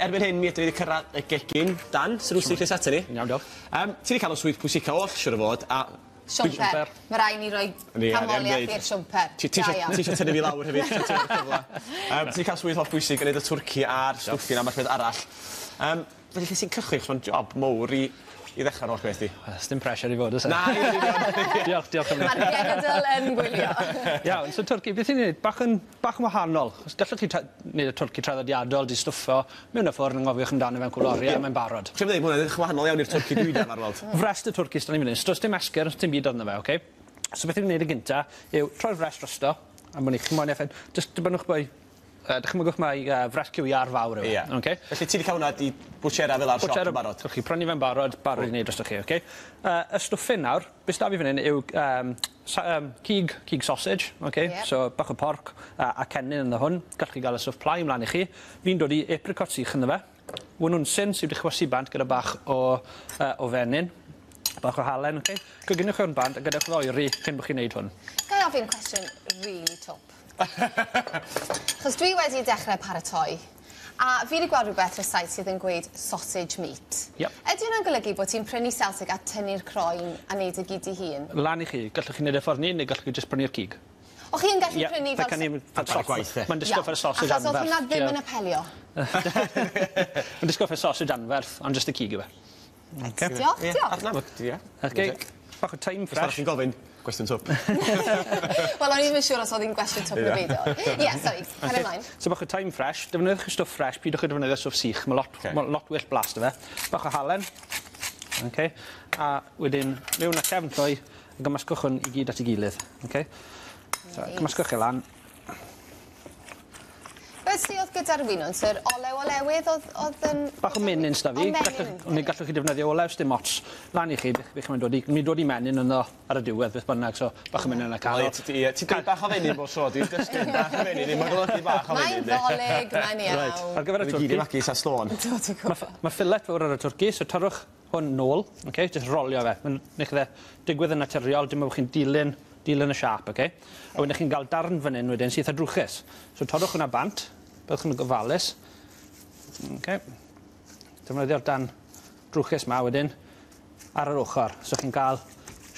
Erbyn hyn mi ydyn ni wedi cyrraedd y gegin. Dan, sut wyt ti Chris ata ni? Yn iawn diolch. Yym ti 'di ca'l y swydd pwysica oll siŵr o fod a... Siwmper. Ma' rai' ni roi canmoliaeth i'r siwmper. Ti ti isio ti isio tynnu fi lawr hefyd ti efo'r cyfle. Yym ti 'di ca'l swydd hollbwysig yn neud y twrci a'r stwffin a ambell beth arall. Yym felly lle ti'n cychwyn 'chos ma'n job mowr i i ddechra'r holl beth 'di. Wel sdim pressure i fod o's e? Na yn union. Diolch diolch am 'ny. Ma'r genedl yn gwylio. Iawn so twrci beth ni'n neud bach yn bach yn wahanol 'chos gallwch chi neud y twrci traddodiadol 'di stwffo mewn y ffwrn anghofiwch amdano fe am cwpwl o orie a mae'n barod. Ti am ddeud ma' wnna'n edrych yn wahanol iawn i'r twrci dwi 'di arfar weld. Frest y twrci s'da ni fan 'yn so do's dim esgyrn dim byd arno fe oce? So beth ni'n neud yn gynta yw troi'r frest drosto am bo' ni chi moyn eff- jyst dibynnwch bwy Yy dychmygwch mai yy frest cyw iâr fawr yw e. Ie. Oce? Felly ti 'di ca'l wnna 'di bwtsiera fel 'a o'r siop yn barod? Gewch chi prynu fe'n barod, barod i neud drostoch chi, oce? Yy y stwffin nawr, be' s'da fi fan 'yn yw yym sa- yym cig, cig sausage, oce? Ie. So bach o porc a a cennin ynddo hwn. Gallwch chi ga'l y stwff plai mlan i chi. Fi'n dod i apricot sych ynddo fe. Winwnsyn sy wedi chwysu bant gyda bach o yy o fenyn. Bach o halen, oce? Coginwch hwn bant a gadewch iddo oeri cyn bo' chi'n neud hwn. Gai ofyn cwestiwn rili twp? 'Chos dwi wedi dechre paratoi a fi 'di gweld rwbeth rysait sydd yn gweud sausage meat. Iep. Ydi wnna'n golygu bo' ti'n prynu selsig a tynnu'r croen a neud e gyd dy hun? Lan i chi. Gallwch chi neud e ffordd 'ny neu gallwch chi jyst prynu'r cig. O chi yn gallu prynu fel fel Ar gwaith de. Ma'n disgwl fel sausage Achos anferth. o'dd hwnna ddim yn apelio. Ma'n disgwl fel sausage anferth ond jyst y cig yw e. Reit diolch diolch. Na ma' ie. Oce. Bach o thyme fresh. Os chi'n gofyn gwestiwn twp. Wel o'n i ddim yn siŵr os o'dd 'i'n gwestiwn twp neu beidio. Ie sori, cario mlaen. So bach o thyme fresh, defnyddiwch y stwff fresh, pidwch â defnyddio stwff sych, ma' lot ma' lot well blas 'da fe. Bach o halen. Oce. A wedyn mewn â cefn llwy a gymysgwch hwn i gyd at 'i gilydd. Oce. So cymysgwch e lan. Beth sy o'dd gyda'r winwns yr olew olewydd o'dd o'dd yn... Bach o menyn s'da fi. O menyn. Gallwch neu gallwch chi defnyddio olew sdim ots. Lan i chi be' be' chi moyn dodi. Ni'n dodi menyn ynddo ar y diwedd beth bynnag so bach o menyn yn y canol. Wel ie ti ie ti'n deud bach o fenyn bob tro dwi'n dysgu bach o fenyn ddim yn golygu bach o Mae'n fenyn de. Ddolig mae'n iawn. Reit ar gyfer y twrci. Ni gyd i twrci. magu sa slôn. Do ti'n gwbo. Ma' fillet fowr ar y twrci so torrwch hwn nôl oce jyst rolio fe. Ma'n neu' fe digwydd yn naturiol dim on' bo' chi'n dilyn Dilyn y siâp, oce? A wedyn chi'n ga'l darn fan 'yn wedyn sy itha drwchus. So torrwch hwnna bant, byddwch yn gofalus. Oce. Defnyddio'r darn drwchus 'ma wedyn ar yr ochor. So chi'n ga'l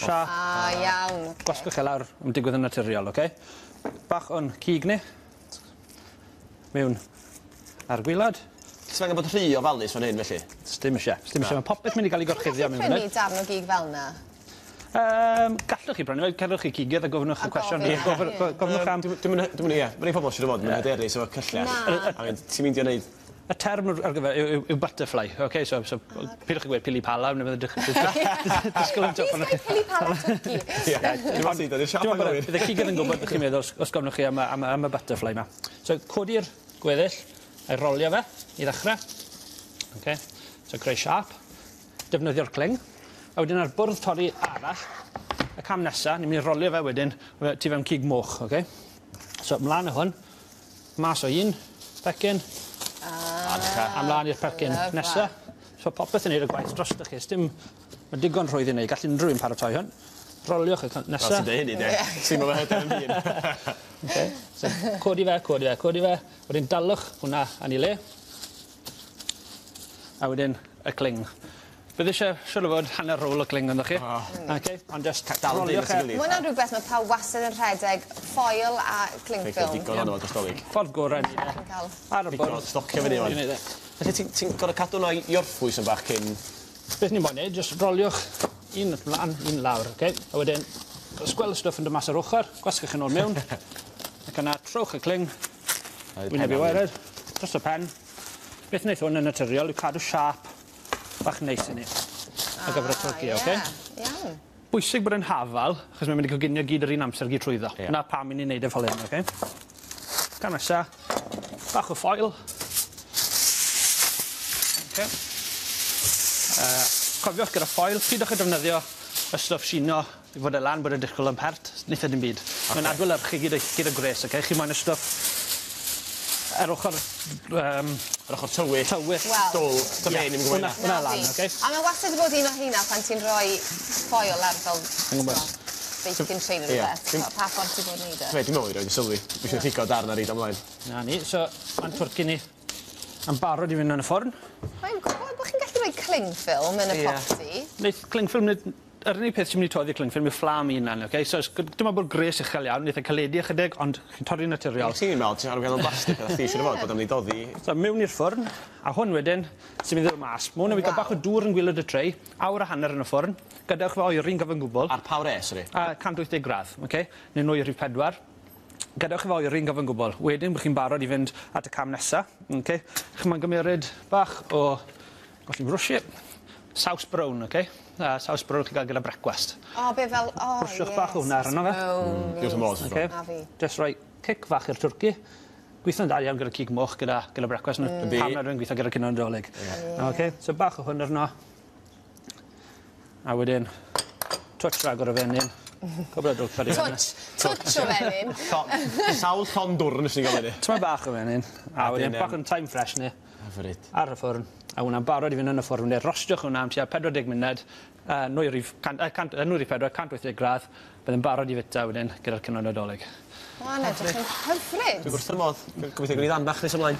siâp. Ah, iawn. Oce. Gwasgwch e lawr, ma'n digwydd yn naturiol, oce? Bach o'n cig ni. Mewn ar gwilod. Ti angen bod rhy ofalus fan hyn felly? Sdim isie. Sdim isie. Ma' popeth mynd i ga'l 'i gorchuddio mewn Ti'n gallu prynu darn o gig fel 'na? Gallwch chi brynu fe, cerwch i cigydd a gofynnwch y cwestiwn. A gofyn, ie. Gofynnwch am... Dwi'm yn dwi'm yn ie, ma' rei pobol siŵr o fod ddim yn hyderus efo cyllell. Na. A mynd, ti'n meindio neud Y term ar gyfer yw yw yw butterfly, oce, so so pidwch â gweud pili pala ne' fydd disgwl yn twp arnoch chi. Pili pala twrci. Ie, dwi'n me'wl ti dod i'r siop anghywir. Bydd y cigydd yn gwbod beth chi'n meddwl os os gofynnwch chi am y am y am y butterfly 'ma. So codi'r gweddill a'i rolio fe i ddechre. Oce, so creu siâp. Defnyddio'r cling. A wedyn ar bwrdd torri arall, y cam nesa, ni'n myn' i rolio fe wedyn tu fewn cig moch, oce? So mlan â hwn, mas o un pecyn. Ah. A mlan i'r pecyn nesa. So popeth yn neud y gwaith drostoch chi, sdim ma' digon rhwydd i neud, gall unrhyw un paratoi hwn. Roliwch y nesa. Fel ti'n deud hynny de. Ti'n me'wl hyder yn hun. Oce, so codi fe, codi fe, codi fe, wedyn dalwch hwnna yn 'i le. A wedyn y cling. Bydd isie siŵr o fod hanner rôl o cling arnoch chi. O. Oce, ond jyst Dal roliwch e. Ma' wnna'n rwbeth ma' pawb wastad yn rhedeg foil a cling film. Digon ono fo dros Dolig. Ffordd gore i neud e. Ar y Digon o bwrdd. stocio fyny ŵan. I neud e. Felly ti'n ti'n gor'o' cadw wnna i orffwys yn bach cyn... Beth ni'n moyn neud jyst roliwch un mlan un lawr oce? A wedyn sgwel y stwff yn dod mas o'r ochor, gwasgwch e nôl mewn. Ac yna trowch y cling. Wyneb i waered, dros y pen. Beth wneith hwn yn naturiol yw cadw siâp bach neis i ni. Ar gyfer y twrci, oce? Iawn. Bwysig bod e'n hafal, achos mae'n mynd i coginio gyd yr un amser gyd trwyddo. Ie. 'Na pam 'yn ni'n neud e fel hyn, oce? Cam nesa, bach o ffoil. Oce. Cofiwch gyda ffoil, pidwch â defnyddio y stwff shino i fod e lan bod e'n disgwl yn pert, neith e dim byd. Oce. Mae'n adlewyrchu gyd y gyd y gwres oce? Chi moyn y stwff yr ochor Yr ochor tywyll. Tywyll. Wel. Dwl. Dyma fe ni'm yn gwbo Hwnna ynna. hwnna lan oce? A ma' wastad 'di bod un o rheina pan ti'n rhoi foil ar fel Fi'n gwbod. Baking tray ne' rwbeth. Pa pa ffordd ti fod neud e? Be' dwi me'wl i roid i sylwi. Dwi isio pigo darn a reid o mlaen. 'Na ni so ma'n twrci ni. Yn barod i fynd yn y ffwrn. Mae'n gwybod bod chi'n gallu rhoi cling film yn y popty. Neith cling film nid... Yr unig peth sy'n mynd i toddi cling film yw fflam 'i unan, oce? So, dim ond bod gres uchel iawn, neith e caledu ychydig, ond chi'n torri'n naturiol. Ti'n meddwl, ti'n arfer gael blastig, a chdi siŵr o fod bod am ni doddi. So, mewn i'r ffwrn, a hwn wedyn, sy'n mynd i ddod mas. Ma' hwn yn gael bach o dŵr yn gwylod y tray, awr a hanner yn y ffwrn. Gadewch fe oeri'n gyfan gwbl. Ar pa wres, sori? A 180 gradd, oce? Neu nwy rhif 4. Gadewch i fe oeri'n gyfan gwbl. Wedyn, bych chi'n barod i fynd at y cam nesa, oce? Chi'n ma'n gymeryd bach o, golli brwsi, saws brown, oce? Saws brown chi'n gael gyda brecwast. O, be fel... O, Brwsiwch bach o hwnna arno fe. Diolch yn fawr. Okay. A fi. Just rhoi cic fach i'r twrci. Gweithio'n dda iawn gyda cig moch gyda brecwast. Mm. Pam nad yw'n gweithio gyda cinio Nadolig. Okay, so bach o hwn arno. A wedyn, twtsh ragor o fenyn. Cwbl o drwpad i fyny. Touch, touch o fenyn. Sawl llon dwrn nes ni'n gael fyny. Tyma bach o fenyn. A wedyn, bach o'n thyme fresh ni. Hyfryd. Ar y ffwrn. A hwnna'n barod i fynd yn y ffwrn. Wedyn, rostiwch hwnna am tua 40 munud. Nwy rhif 4, 180 gradd. Bydd yn barod i fita wedyn gyda'r cinio Nadolig. Mae'n edrych yn hyfryd. Dwi'n wrth fy modd. Gobeithio gwni ddan bach nes ymlaen.